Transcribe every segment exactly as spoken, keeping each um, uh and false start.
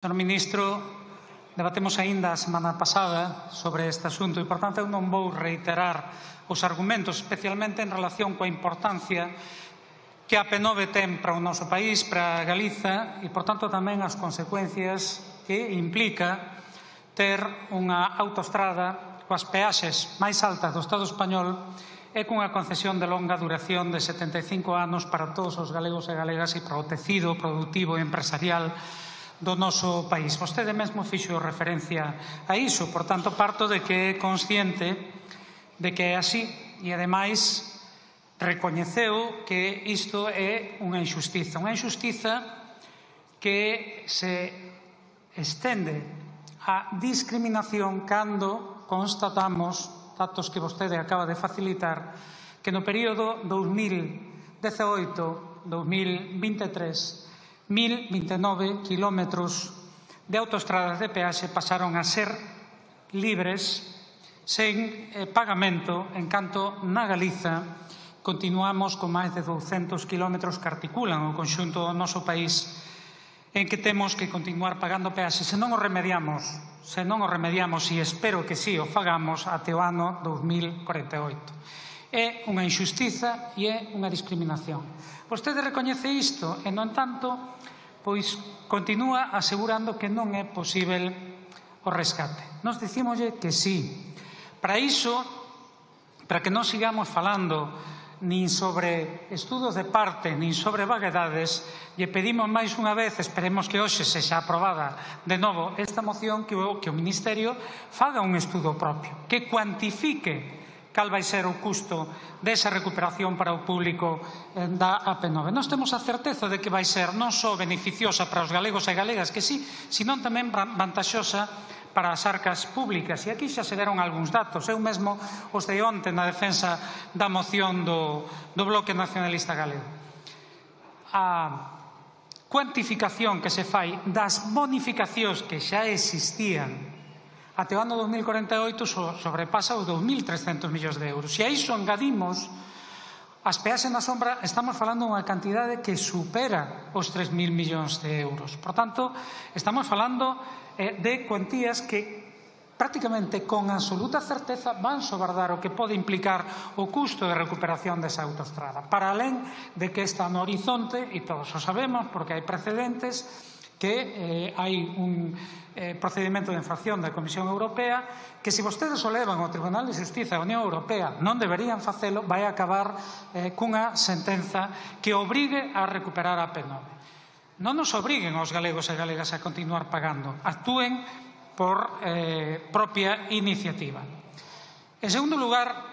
Señor Ministro, debatemos aínda a semana pasada sobre este asunto e, por tanto, eu non vou reiterar os argumentos, especialmente en relación coa importancia que a P nove ten para o noso país, para Galiza, e, por tanto, tamén as consecuencias que implica ter unha autoestrada coas peaxes máis altas do Estado español e cunha concesión de longa duración de setenta e cinco anos para todos os galegos e galegas e para o tecido productivo e empresarial do noso país. Vostede mesmo fixo referencia a iso, por tanto, parto de que é consciente de que é así e, ademais, recoñeceu que isto é unha injustiza. Unha injustiza que se estende a discriminación cando constatamos datos que vostede acaba de facilitar que no período dos mil dezaoito a dos mil vinte e tres mil vinte e nove quilómetros de autoestradas de peaxe pasaron a ser libres sen eh, pagamento, en canto na Galiza continuamos con máis de douscentos quilómetros que articulan o conxunto do noso país en que temos que continuar pagando peaxe. Se non o remediamos, se non o remediamos, e espero que sí o fagamos, até o ano dos mil corenta e oito. É unha injustiza e é unha discriminación. Vostede recoñece isto e, no entanto, pois continúa asegurando que non é posível o rescate. Nos dicímoslle que sí. Para iso, para que non sigamos falando nin sobre estudos de parte, nin sobre vaguedades, lle pedimos máis unha vez, esperemos que hoxe sexa aprobada de novo esta moción, que o, que o Ministerio faga un estudo propio, que cuantifique cal vai ser o custo desa recuperación para o público da A P nove. Nós temos a certeza de que vai ser non só beneficiosa para os galegos e galegas, que sí, senón tamén vantaxosa para as arcas públicas. E aquí xa se deron algúns datos. Eu mesmo os de onte na defensa da moción do, do Bloque Nacionalista Galego. A cuantificación que se fai das bonificacións que xa existían até o ano dos mil corenta e oito sobrepasa os dous mil trescentos millóns de euros. Se a iso engadimos as peaxes na sombra, estamos falando unha cantidade que supera os tres mil millóns de euros. Por tanto, estamos falando eh, de cuantías que prácticamente con absoluta certeza van sobardar o que pode implicar o custo de recuperación desa autoestrada. Para alén de que está no horizonte, e todos o sabemos porque hai precedentes, que eh, hai un eh, procedimento de infracción da Comisión Europea que, se vostedes o levan ao Tribunal de Xustiza da Unión Europea, non deberían facelo, vai acabar eh, cunha sentenza que obrigue a recuperar a P nove. Non nos obriguen aos galegos e galegas a continuar pagando, actúen por eh, propia iniciativa. En segundo lugar,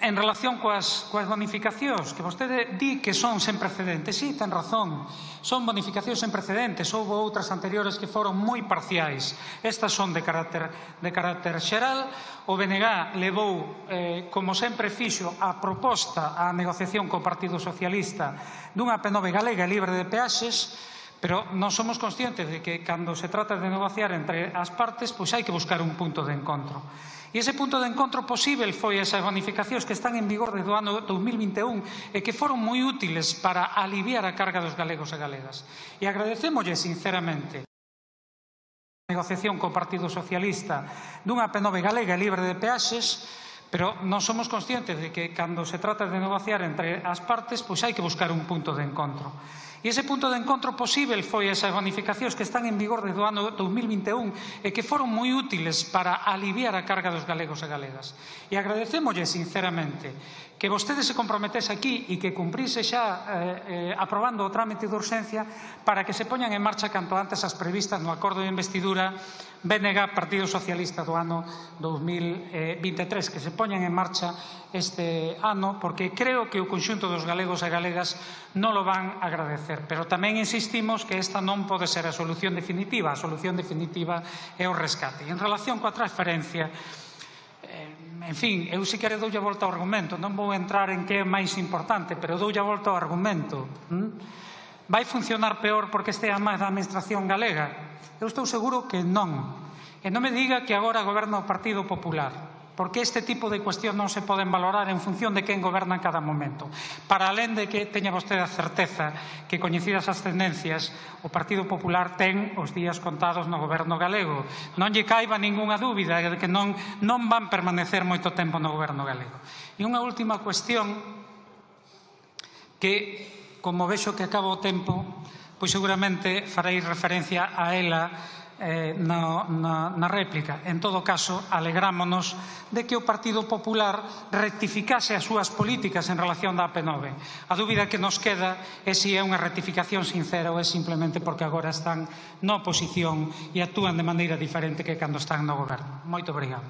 en relación coas, coas bonificacións, que vostede di que son sen precedentes. Sí, ten razón, son bonificacións sen precedentes. Houve outras anteriores que foron moi parciais. Estas son de carácter, de carácter xeral. O B N G levou, eh, como sempre fixo, a proposta á negociación co Partido Socialista dunha P nove galega libre de peaxes, pero non somos conscientes de que, cando se trata de negociar entre as partes, pois hai que buscar un punto de encontro. E ese punto de encontro posible foi esas bonificacións que están en vigor desde o ano dos mil vinte e un e que foron moi útiles para aliviar a carga dos galegos e galegas. E agradecémoslle sinceramente a negociación co Partido Socialista dunha P nove galega libre de peaxes, pero non somos conscientes de que, cando se trata de negociar entre as partes, pois hai que buscar un punto de encontro. E ese punto de encontro posible foi esas bonificacións que están en vigor desde o ano dos mil vinte e un e que foron moi útiles para aliviar a carga dos galegos e galegas. E agradecémoslle sinceramente que vostede se comprometese aquí e que cumprise xa eh, eh, aprobando o trámite de urxencia para que se poñan en marcha canto antes as previstas no acordo de investidura B N G Partido Socialista do ano dos mil vinte e tres, que se poñan en marcha este ano, porque creo que o conxunto dos galegos e galegas non lo van a agradecer. Pero tamén insistimos que esta non pode ser a solución definitiva. A solución definitiva é o rescate. E en relación coa transferencia, en fin, eu si quere doulle a volta ao argumento. Non vou entrar en que é máis importante, pero doulle a volta ao argumento. Vai funcionar peor porque estea máis da administración galega? Eu estou seguro que non. E non me diga que agora goberna o Partido Popular. porque este tipo de cuestións non se poden valorar en función de quen goberna en cada momento. Para alén de que teña vostede a certeza que, coñecidas as tendencias, o Partido Popular ten os días contados no goberno galego. Non lle caiba ningunha dúbida de que non, non van permanecer moito tempo no goberno galego. E unha última cuestión que, como vexo que acaba o tempo, pois seguramente faréis referencia a ela Eh, na, na, na réplica. En todo caso, alegrámonos de que o Partido Popular rectificase as súas políticas en relación da A P nove. A dúbida que nos queda é se é unha rectificación sincera ou é simplemente porque agora están na oposición e actúan de maneira diferente que cando están no goberno. Moito obrigado.